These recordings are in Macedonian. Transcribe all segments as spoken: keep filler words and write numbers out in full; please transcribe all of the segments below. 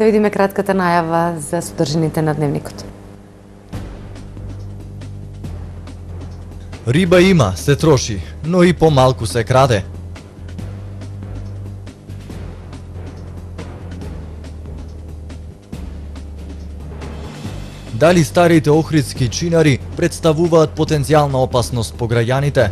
Да видиме кратката најава за содржините на дневникот. Риба има, се троши, но и помалку се краде. Дали старите охридски чинари представуваат потенцијална опасност по граѓаните?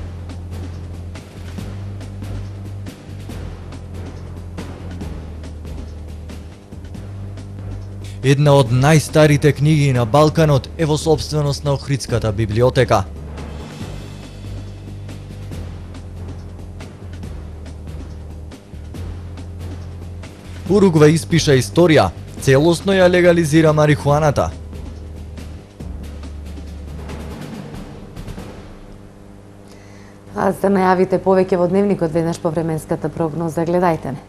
Една од најстарите книги на Балканот е во сопственост на Охридската библиотека. Уругвај испиша историја, целосно ја легализира марихуаната. А за најавите повеќе во дневникот веднаш по временската прогноза, гледајте не.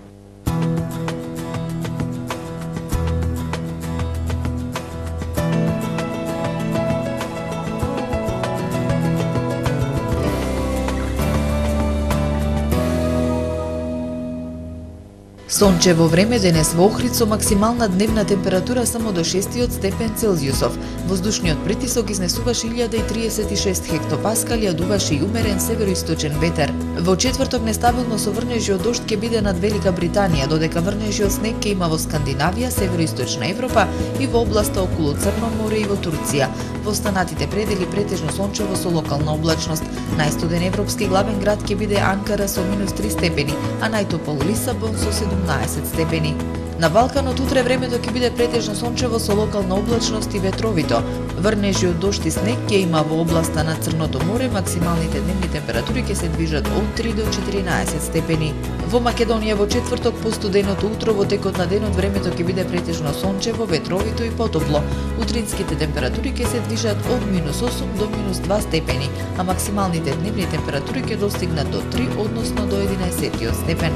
Сончево време денес во Охрид со максимална дневна температура само до шестиот степен Целзиусов. Воздушниот притисок изнесуваше илјада и триесет и шест хектопаскали, а дуваше и умерен североисточен ветер. Во четврток нестабилно со врнежи од дожд ќе биде над Велика Британија, додека врнежи од снег ќе има во Скандинавија, североисточна Европа и во областа околу Црно море и во Турција. Во останатите предели претежно сончево со локална облачност. Најстуден европски главен град ќе биде Анкара со минус три степени, а најтопол Лисабон со седумнаесет степени. На Балканот утре времето ќе биде претежно сончево со локална облачност и ветровито. Врнежи од дожд и снег ќе има во областа на Црното море, максималните дневни температури ќе се движат од три до четиринаесет степени. Во Македонија во четврток по студеното утро во текот на денот времето ќе биде претежно сончево, ветровито и потопло. Утринските температури ќе се движат од минус осум до минус два степени, а максималните дневни температури ќе достигнат до три, односно до единаесет степен.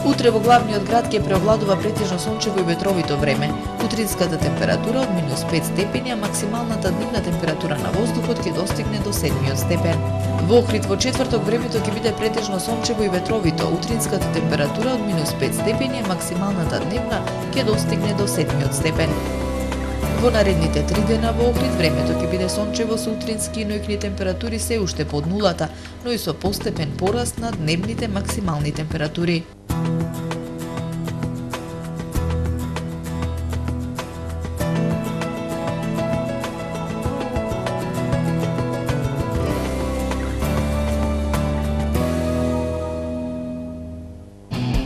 Утре во главниот град ќе преовладува претежно сончево и ветровито време. Утринската температура од минус пет степени, а максималната дневна температура на воздухот ќе достигне до седмиот степен. Во Охрид во четврток времето ќе биде претежно сончево и ветровито. Утринската температура од минус пет степени, а максималната дневна ќе достигне до седмиот степен. Во наредните три дена во Охрид времето ќе биде сончево со утрински и ноќни температури се уште под нулата, но и со постепен пораст на дневните максимални температури.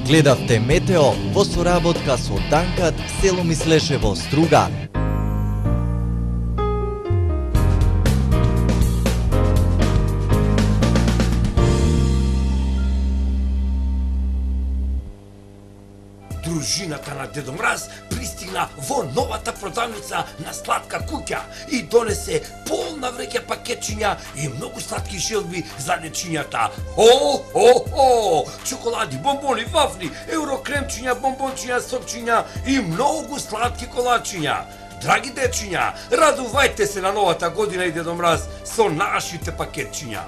Гледавте Метео во соработка со Данкат село Мислешево, Струга. Дружината на Дедо Мраз пристигна во новата продавница на Сладка куќа и донесе полна вреќа пакетчиња и многу сладки шелби за дечињата. Хо, хо, хо! Чоколади, бомбони, вафли, еврокремчиња, бомбончиња, сокчиња и многу сладки колачиња. Драги дечиња, радувајте се на новата година и Дедо Мраз со нашите пакетчиња.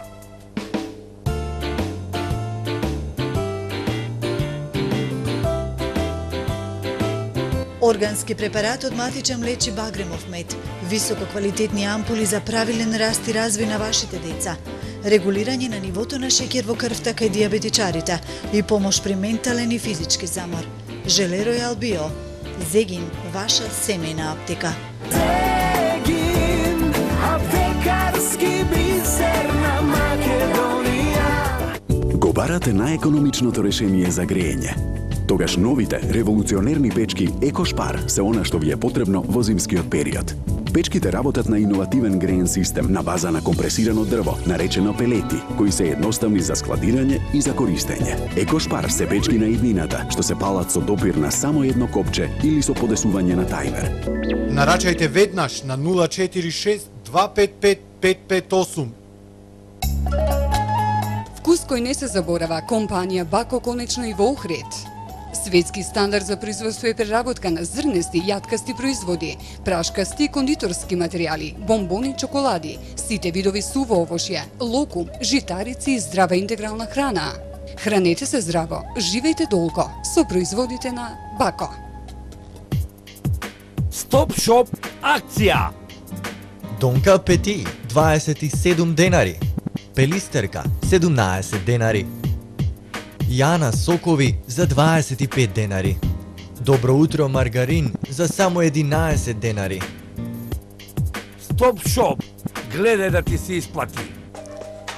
Органски препарат од матичен лечи багремов мед, висококвалитетни ампули за правилен раст и развој на вашите деца, регулирање на нивото на шеќер во крвта кај диабетичарите и помош при ментален и физички замор. Желе Ројал Био. Зегин, ваша семејна аптека. Зегин, аптекарски бисер на Македонија. Го барате најекономичното решение за грејење. Тогаш новите револуционерни печки Екошпар се она што ви е потребно во зимскиот период. Печките работат на иновативен греен систем на база на компресирано дрво, наречено пелети, кои се едноставни за складирање и за користење. Екошпар се печки на иднината, што се палат со допир на само едно копче или со подесување на тајмер. Нарачајте веднаш на нула четири шест два пет пет пет пет осум. Вкус кој не се заборава, компанија Бако конечно и во Охрид. Светски стандард за производство и преработка на зрнести, јаткасти производи, прашкасти и кондиторски материјали, бомбони, чоколади, сите видови суво овошје, локум, житарици и здрава интегрална храна. Хранете се здраво, живејте долго со производите на Бако. Стоп шоп акција. Донка Пети дваесет и седум денари. Пелистерка седумнаесет денари. Јана сокови за дваесет и пет денари. Добро утро маргарин за само единаесет денари. Стоп шоп, гледај да ти се исплати.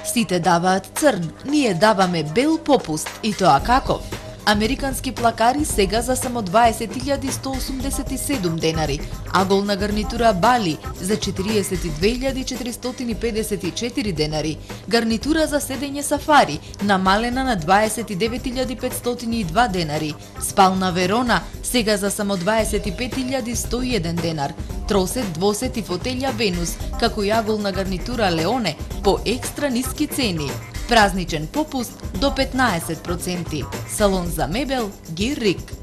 Сите даваат црн, ние даваме бел попуст, и тоа каков? Американски плакари сега за само дваесет илјади сто осумдесет и седум денари, аголна гарнитура Бали за четириесет и две илјади четиристотини и педесет и четири денари, гарнитура за седење сафари намалена на дваесет и девет илјади петстотини и два денари, спална Верона сега за само дваесет и пет илјади сто и еден денар, тросет, двосет и фотелја Венус, како и аголна гарнитура Леоне по екстра ниски цени. Празничен попуст до петнаесет проценти. Салон за мебел Гирик.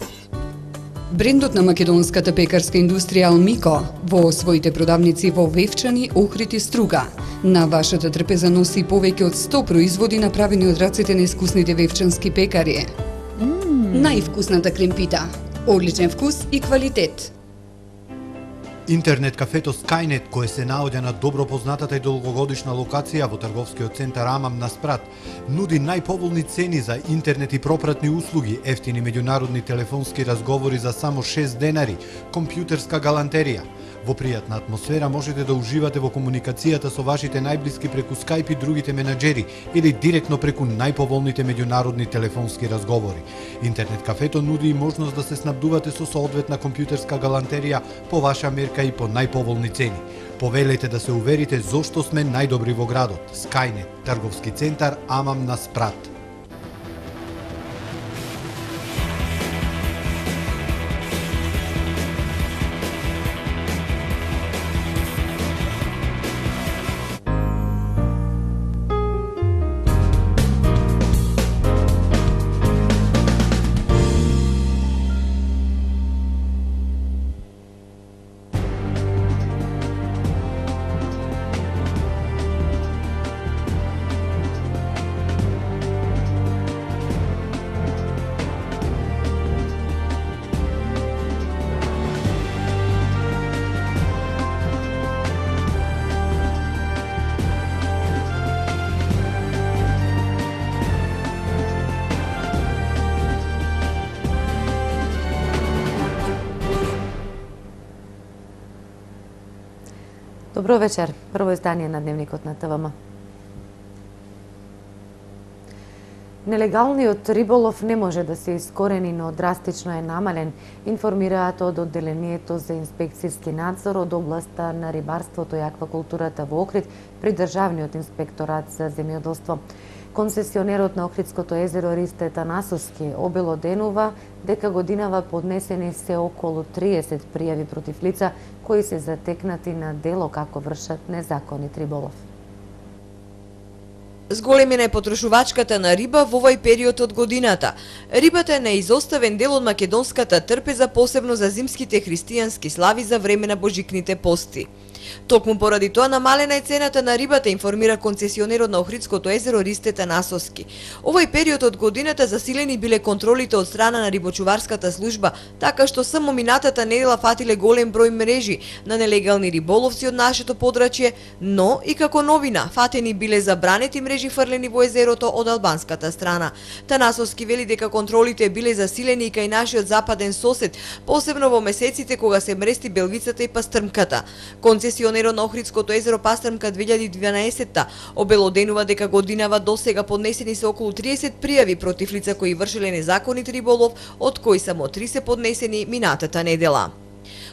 Брендот на македонската пекарска индустрија Алмико во своите продавници во Вевчани, Охрид и Струга. На вашата трпеза носи повеќе од сто производи направени од рацете на искусните вевчански пекари. Mm. Највкусната кремпита, одличен вкус и квалитет. Интернет кафето Skynet, кое се наоѓа на добро познатата и долгогодишна локација во трговскиот центар Амам на Спрат, нуди најповолни цени за интернет и пропратни услуги, ефтини меѓународни телефонски разговори за само шест денари, компјутерска галантерија. Во пријатна атмосфера можете да уживате во комуникацијата со вашите најблиски преку Skype и другите менаџери или директно преку најповолните меѓународни телефонски разговори. Интернет кафето нуди и можност да се снабдувате со соодветна компјутерска галантерија по ваша мерка и по најповолни цени. Повелете да се уверите зошто сме најдобри во градот. Skynet, трговски центар Амам на Спрат. Добро вечер. Прво издание на Дневникот на ТВМ. Нелегалниот риболов не може да се искорени, но драстично е намален, информираат од Одделението за инспекцијски надзор од областа на рибарството и аквакултурата во Охрид при Државниот инспекторат за земјоделство. Концесионерот на Охридското езеро Ристе Танасовски обелоденува дека годинава поднесени се околу триесет пријави против лица кои се затекнати на дело како вршат незаконит риболов. Зголемена е потрошувачката на риба во овој период од годината. Рибата е неизоставен дел од македонската трпеза, посебно за зимските христијански слави за време на божикните пости. Токму поради тоа намалена е цената на рибата, информира концесионерот на Охридското езеро Ристе Танасовски. Овој период од годината засилени биле контролите од страна на рибочуварската служба, така што само минатата недела фатиле голем број мрежи на нелегални риболовци од нашето подрачје, но и како новина фатени биле забранети мрежи фрлени во езерото од албанската страна. Танасовски вели дека контролите биле засилени и кај нашиот западен сосед, посебно во месеците кога се мрести белвицата и пастрмката. Концесионерот на Охридското езеро Пастрмка две илјади и дванаесетта обелоденува дека годинава досега поднесени се околу триесет пријави против лица кои вршеле незаконит риболов, од кои само три се поднесени минатата недела.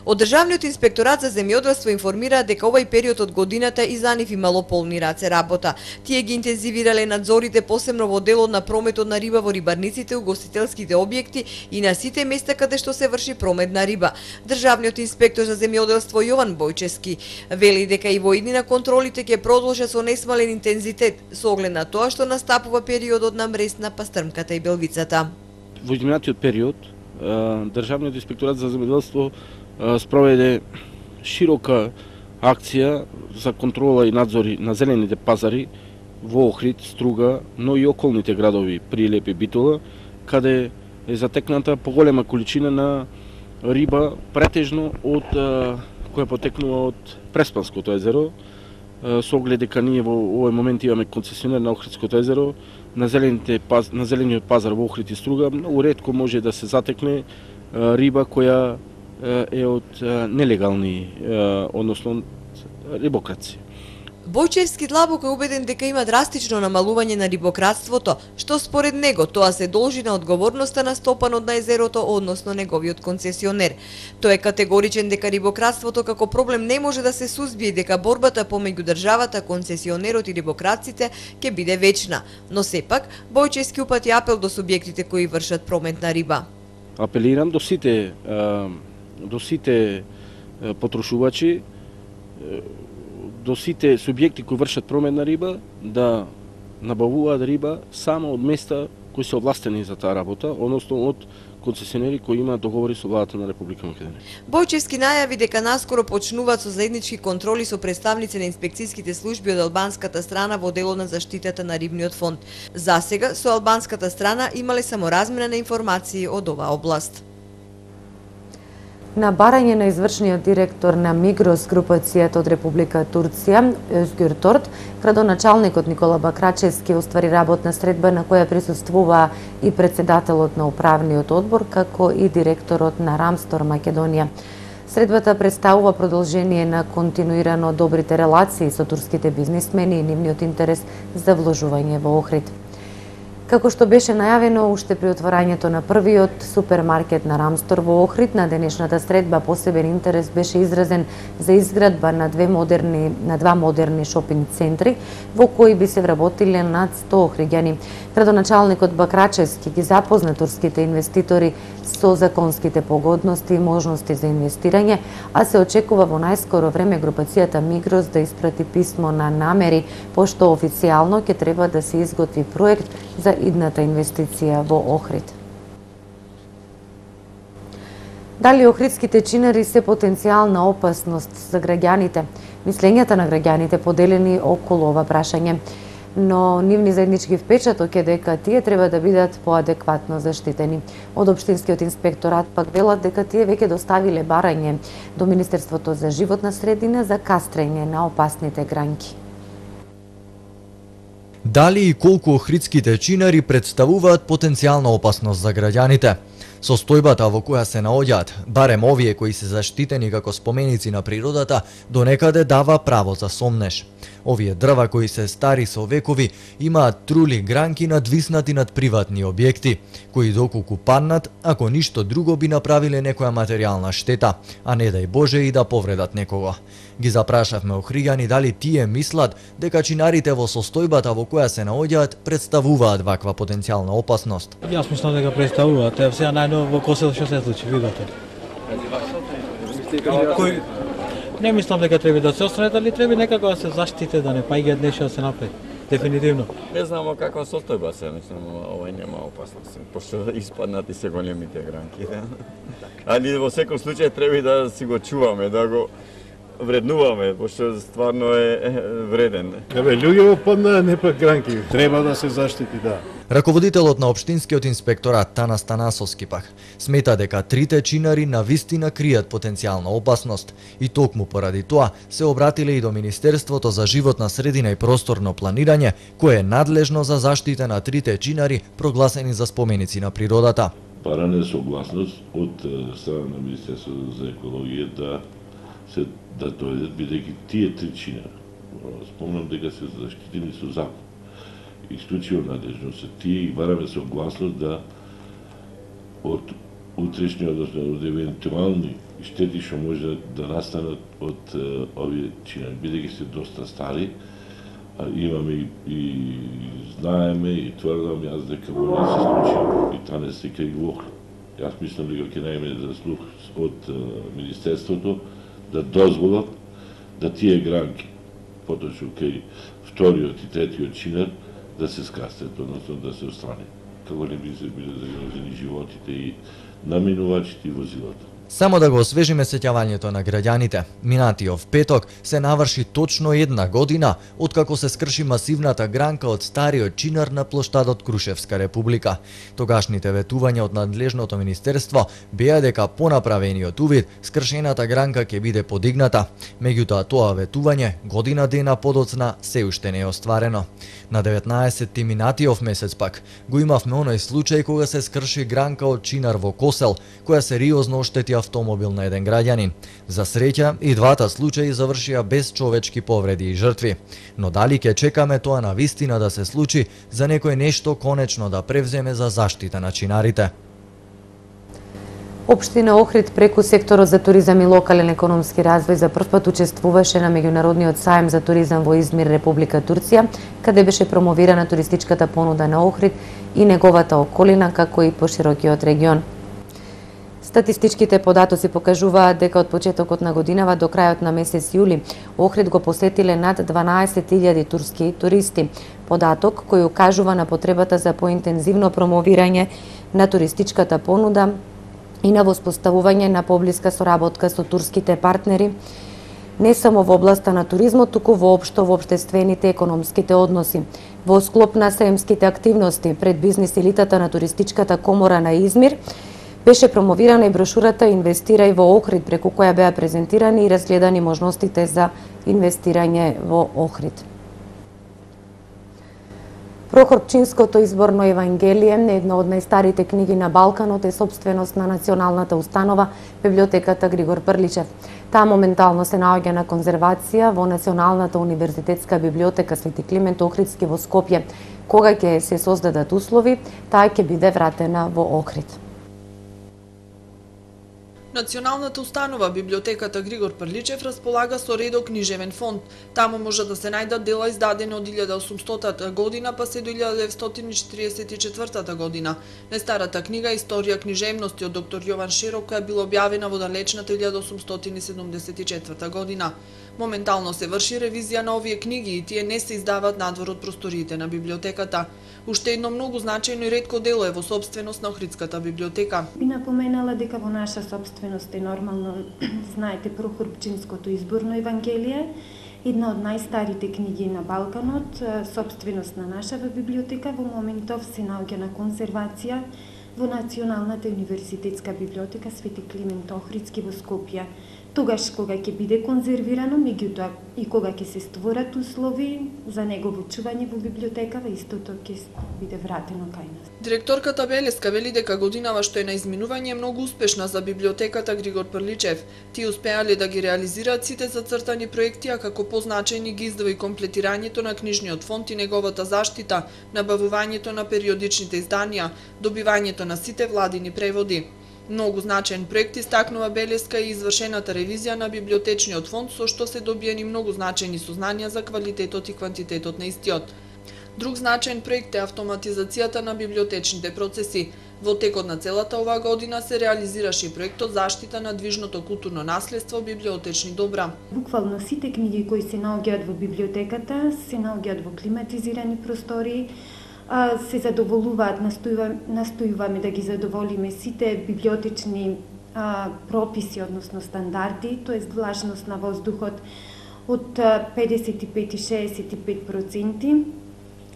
Од Државниот инспекторат за земјоделство информира дека овој период од годината и за нив имало полни раце работа. Тие ги интензивирале надзорите посебно во делот на прометот на риба во рибарниците, угостителските објекти и на сите места каде што се врши промет на риба. Државниот инспектор за земјоделство Јован Бојчевски вели дека и во иднина контролите ќе продолжат со несмален интензитет со оглед на тоа што настапува периодот на мрест на пастрмката и белвицата. Во изминатиот период Државниот инспекторат за земјоделство спроведе широка акција за контрола и надзори на зелените пазари во Охрид, Струга, но и околните градови Прилеп и Битола, каде е затекната поголема количина на риба претежно од која потекнува од Преспанското езеро, со оглед дека ние во овој момент имаме концесионер на Охридското езеро, на зелените паз, на зелениот пазар во Охрид и Струга многу ретко може да се затекне риба која е од нелегални, односно рибокраци. Бојчевски длабоко е убеден дека има драстично намалување на рибократството, што според него тоа се должи на одговорноста на стопанот на езерото, односно неговиот концесионер. Тој е категоричен дека рибократството како проблем не може да се сузбие, дека борбата помеѓу државата, концесионерот и рибократците ќе биде вечна. Но сепак, Бојчевски упати апел до субјектите кои вршат промет на риба. Апелирам до сите до сите потрошувачи, до сите субјекти кои вршат промет на риба да набавуваат риба само од места кои се овластени за таа работа, односно од концесионери кои имаат договори со владата на Република Македонија. Бојчевски најави дека наскоро почнуваат со заеднички контроли со представници на инспекцијските служби од албанската страна во делот на заштитата на рибниот фонд. Засега со албанската страна имале само размена на информации од оваа област. На барање на извршниот директор на Мигрос групацијата од Република Турција, Özgür Tort, градоначалникот Никола Бакрачевски оствари работна средба на која присуствува и председателот на управниот одбор, како и директорот на Рамстор Македонија. Средбата представува продолжение на континуирано добрите релации со турските бизнисмени и нивниот интерес за вложување во Охрид. Како што беше најавено уште при отворањето на првиот супермаркет на Рамстор во Охрид, на денешната средба посебен интерес беше изразен за изградба на две модерни на два модерни шопинг центри во кои би се вработиле над сто охриѓани. Градоначалникот Бакрачевски ги запозна турските инвеститори со законските погодности и можности за инвестирање, а се очекува во најскоро време групацијата Мигрос да испрати писмо на намери, пошто официјално ќе треба да се изготви проект за идната инвестиција во Охрид. Дали охридските чинари се потенцијална опасност за граѓаните? Мислењата на граѓаните поделени околу ова прашање, но нивни заеднички впечаток е дека тие треба да бидат поадекватно заштитени. Од Општинскиот инспекторат пак велат дека тие веќе доставиле барање до Министерството за животна средина за кастрење на опасните гранки. Дали и колку охридските чинари представуваат потенцијална опасност за граѓаните? Состојбата во која се наоѓаат, барем овие кои се заштитени како споменици на природата, до некаде дава право за сомнеш. Овие дрва кои се стари со векови имаат трули гранки надвиснати над приватни објекти, кои доколку паднат, ако ништо друго би направиле некоја материјална штета, а не дај Боже и да повредат некого. Ги запрашавме охриѓани дали тие мислат дека чинарите во состојбата во која се наоѓаат представуваат ваква потенцијална опасност. Јас мислам дека представуваат, е сега најново во Косел што се случи, видите. Кој не мислам дека треба да се остранат, али треба некако да се заштите, да не паѓаат нешто да се направи. Дефинитивно. Не знамо каква состојба се, мислам, овој нема опасност, пошто испаднати се големите гранки. Али во секој случај треба да си го чуваме, да го вреднуваме, пошто стварно е вреден. Еве, луѓе паднаа, не пак гранки. Треба да се заштити, да. Раководителот на Општинскиот инспекторат Танас Танасовски пак смета дека трите чинари навистина кријат потенцијална опасност и токму поради тоа се обратиле и до Министерството за животна средина и просторно планирање, кое е надлежно за заштита на трите чинари прогласени за споменици на природата. Баране согласност од страна на Министерството за екологија да се да дојдат, бидејќи тие три чинари, спомнам дека се заштитени со закон. Исклучиво надлежно се тие и бараме согласност да од утрешни, односно од евентуални штети што може да настанат од е, овие чинари, бидејќи се доста стари, а имаме и, и знаеме и тврдам јас дека може да се случи и танес дека и во Охрид. Јас мислам дека ќе најме за слух од е, Министерството да дозволат да тие гранки, поточно кај вториот и третиот чинар, да се скастат, односно да се отстрани, како не би се биле загрозени животите и наминувачите и возилата. Само да го освежиме сеќавањето на граѓаните, минатиот петок се наврши точно една година откако се скрши масивната гранка од стариот чинар на плоштадот Крушевска република. Тогашните ветувања од надлежното министерство беа дека по направениот увид скршената гранка ќе биде подигната. Меѓутоа тоа ветување година дена подоцна се уште не е остварено. На деветнаесетти минатиот месец пак го имавме оној случај кога се скрши гранка од чинар во Косел, која сериозно оштети автомобил на еден граѓанин. За среќа, и двата случаи завршија без човечки повреди и жртви. Но дали ќе чекаме тоа на вистина да се случи, за некој нешто конечно да превземе за заштита на чинарите? Општина Охрид преку секторот за туризам и локален економски развој за прв пат учествуваше на меѓународниот сајм за туризам во Измир, Република Турција, каде беше промовирана туристичката понуда на Охрид и неговата околина, како и поширокиот регион. Статистичките податоци покажуваат дека од почетокот на годинава до крајот на месец јули Охрид го посетиле над дванаесет илјади турски туристи. Податок кој укажува на потребата за поинтензивно промовирање на туристичката понуда и на воспоставување на поблиска соработка со турските партнери, не само во областа на туризмот, туку воопшто во општествените економските односи. Во склоп на саемските активности пред бизнис елитата на туристичката комора на Измир, беше промовирана и брошурата "Инвестирај во Охрид", преку која беа презентирани и разгледани можностите за инвестирање во Охрид. Прохорпчинското изборно евангелие, една од најстарите книги на Балканот, е собственост на националната установа Библиотеката Григор Прличев. Таа моментално се наоѓа на конзервација во Националната универзитетска библиотека Свети Климент Охридски во Скопје. Кога ќе се создадат услови, таа ќе биде вратена во Охрид. Националната установа Библиотеката Григор Прличев располага со редок книжевен фонд. Таму може да се најдат дела издадени од илјада и осумстотата година па се до илјада деветстотини четиридесет и четвртата година. Најстарата книга Историја книжевности од доктор Јован Шерок која била објавена во далечната илјада осумстотини седумдесет и четврта година. Моментално се врши ревизија на овие книги и тие не се издаваат надвор од просториите на библиотеката. Уште едно многу значајно и ретко дело е во собственост на Охридската библиотека. Би напоменала дека во наша собственост е нормално, знаете, Прохорпчинското изборно евангелие, една од најстарите книги на Балканот, собственост на нашава библиотека, во моментов се наоѓа на конзервација во Националната универзитетска библиотека Свети Климент Охридски во Скопје. Тогаш кога ќе биде конзервирано, меѓутоа и кога ќе се створат услови за негово чување во библиотекава, истото ќе биде вратено кај нас. Директорката Белеска вели дека годинава што е на изминување е многу успешна за библиотеката Григор Прличев. Тие успеале да ги реализираат сите зацртани проекти, а како позначајни ги издава и комплетирањето на книжниот фонд и неговата заштита, набавувањето на периодичните изданија, добивањето на сите владини преводи. Многу значаен проект истакнува Белеска и извршената ревизија на библиотечниот фонд, со што се добиени многу значајни сознанија за квалитетот и квантитетот на истиот. Друг значаен проект е автоматизацијата на библиотечните процеси. Во текот на целата оваа година се реализираше проектот заштита на движното културно наследство библиотечни добра. Буквално сите книги кои се наоѓаат во библиотеката се наоѓаат во климатизирани простори, се задоволуваат, настојуваме, настојуваме да ги задоволиме сите библиотечни а, прописи, односно стандарди, тоест влажност на воздухот од педесет и пет до шеесет и пет проценти,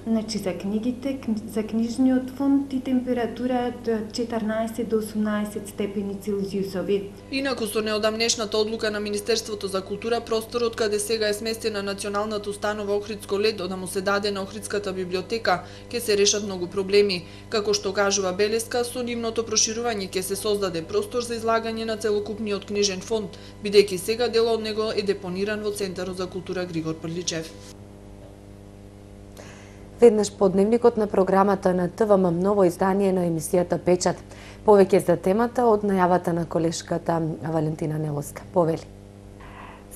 значи за книгите, за книжниот фонд и температура од четрнаесет до осумнаесет степени Целзиусови. Инаку со неодамнешната одлука на Министерството за култура, просторот каде сега е сместена Националната установа Охридско ледо да му се даде на Охридската библиотека, ќе се решат многу проблеми. Како што кажува Белеска, со нивното проширување ќе се создаде простор за излагање на целокупниот книжен фонд, бидејќи сега дел од него е депониран во Центарот за култура Григор Прличев. Веднаш по дневникот на програмата на ТВМ ново издание на емисијата Печат. Повеќе за темата од најавата на колешката Валентина Нелоска. Повели.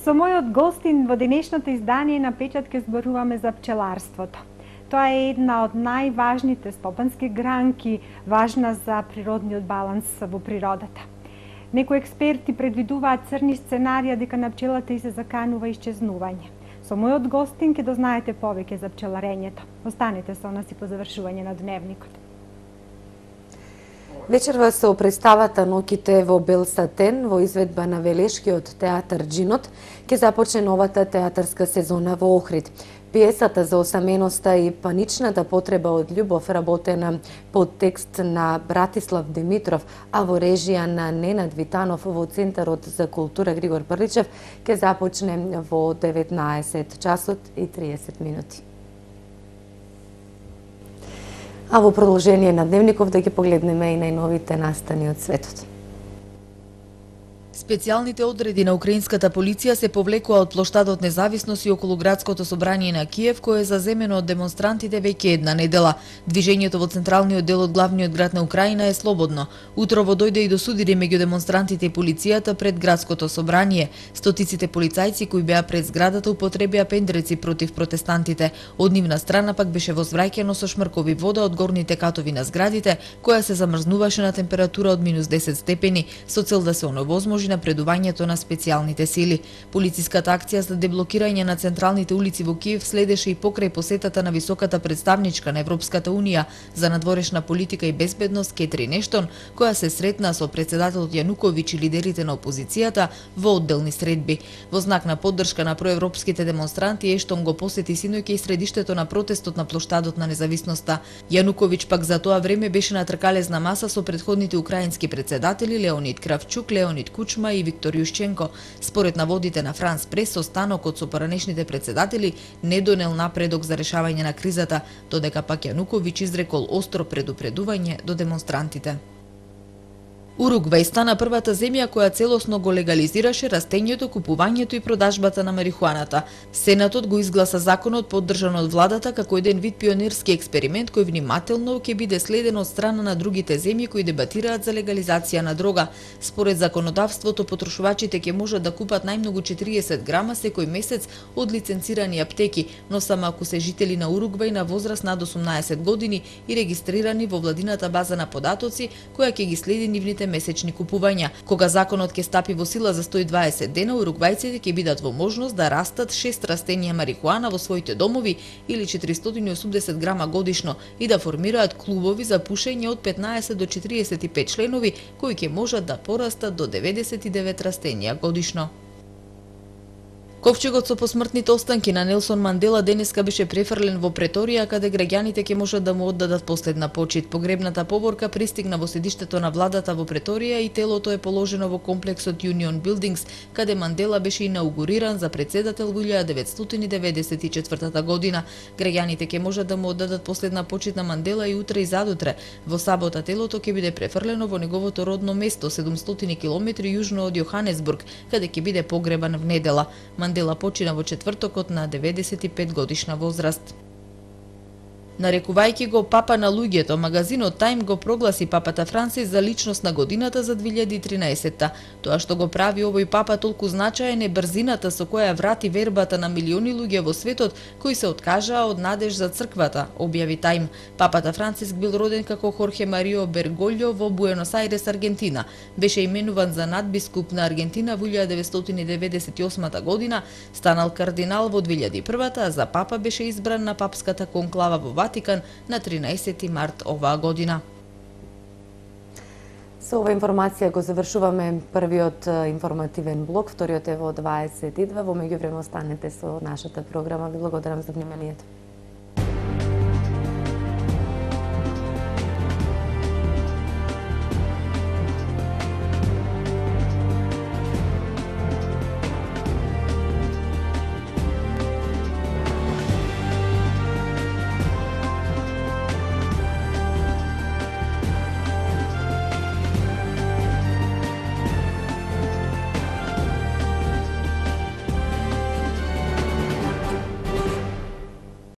Со мојот гостин во денешното издание на Печат ќе зборуваме за пчеларството. Тоа е една од најважните стопански гранки, важна за природниот баланс во природата. Некои експерти предвидуваат црни сценарија дека на пчелата и се заканува исчезнување. Со мојот гостин ќе дознаете повеќе за пчеларењето. Останете со нас и по завршување на дневникот. Вечерва со представата Ноќите во бел сатен во изведба на Велешкиот театар Джинот ќе започне новата театарска сезона во Охрид. Пиесата за осаменоста и паничната потреба од љубов, работена под текст на Братислав Димитров, а во режија на Ненад Витанов во Центарот за култура Григор Прличев, ќе започне во деветнаесет часот и триесет минути. А во продолжение на Дневников да ги погледнеме и најновите настани од светот. Специјалните одреди на украинската полиција се повлекува од плоштадот Независност и околу градското собрание на Киев, кое е заземено од демонстрантите веќе една недела. Движењето во централниот дел од главниот град на Украина е слободно. Утрово дојде и до судири меѓу демонстрантите и полицијата пред градското собрание. Стотиците полицајци кои беа пред зградата употребија пендреци против протестантите. Од нивна страна пак беше возвраќано со шмркови вода од горните катови на зградите, која се замрзнуваше на температура од минус десет степени, со цел да се оневозможи напредувањето на специјалните сили. Полициската акција за деблокирање на централните улици во Киев следеше и покрај посетата на високата представничка на Европската унија за надворешна политика и безбедност Кетрин Ештон, која се сретна со председателот Јануковиќ и лидерите на опозицијата во одделни средби. Во знак на поддршка на проевропските демонстранти, Ештон го посети синоќа и средиштето на протестот на плоштадот на Независноста. Јануковиќ пак за тоа време беше на тркалезна маса со претходните украински председатели Леонид Кравчук, Леонид Кучма и Виктор Јушченко. Според наводите на Франс Прес, состанокот со поранешните председатели не донел напредок за решавање на кризата, додека пак Јануковиќ изрекол остро предупредување до демонстрантите. Уругвај стана првата земја која целосно го легализираше растењето, купувањето и продажбата на марихуаната. Сенатот го изгласа законот поддржан од владата како еден вид пионерски експеримент кој внимателно ќе биде следен од страна на другите земји кои дебатираат за легализација на дрога. Според законодавството, потрошувачите ќе можат да купат најмногу четириесет грама секој месец од лиценцирани аптеки, но само ако се жители на Уругвај на возраст над осумнаесет години и регистрирани во владината база на податоци, која ќе ги следи нивните месечни купувања. Кога законот ќе стапи во сила за сто и дваесет дена, уругвајците ќе бидат во можност да растат шест растенија марихуана во своите домови или четиристотини и осумдесет грама годишно и да формираат клубови за пушење од петнаесет до четириесет и пет членови кои ќе можат да порастат до деветдесет и девет растенија годишно. Ковчегот со посмртните останки на Нелсон Мандела денеска беше префрлен во Преторија, каде граѓаните ќе можат да му оддадат последна почит. Погребната поборка пристигна во седиштето на владата во Преторија и телото е положено во комплексот Union Buildings, каде Мандела беше инаугуриран за председател во илјада деветстотини деветдесет и четвртата година. Граѓаните ќе можат да му оддадат последна почит на Мандела и утре и задутре. Во сабота телото ќе биде префрлено во неговото родно место, седумстотини километри јужно од Јоханесбург, каде ќе биде погребан в недела. Мандела почина во четвртокот на деветдесет и пет годишна возраст. Нарекувајќи го папа на луѓето, магазинот Time го прогласи папата Франсис за личност на годината за две илјади и тринаесетта. Тоа што го прави овој папа толку значаен е брзината со која врати вербата на милиони луѓе во светот кои се откажаа од надеж за црквата, објави Time. Папата Франсис бил роден како Хорхе Марио Берголјо во Буенос Ајрес, Аргентина. Беше именуван за надбискуп на Аргентина во илјада деветстотини деветдесет и осма година, станал кардинал во две илјади и прва, а за папа беше избран на папската конклава во Ватикан на тринаесети март оваа година. Со ова информација го завршуваме првиот информативен блок, вториот е во дваесет и две. Во меѓувреме останете со нашата програма. Ви благодарам за вниманието.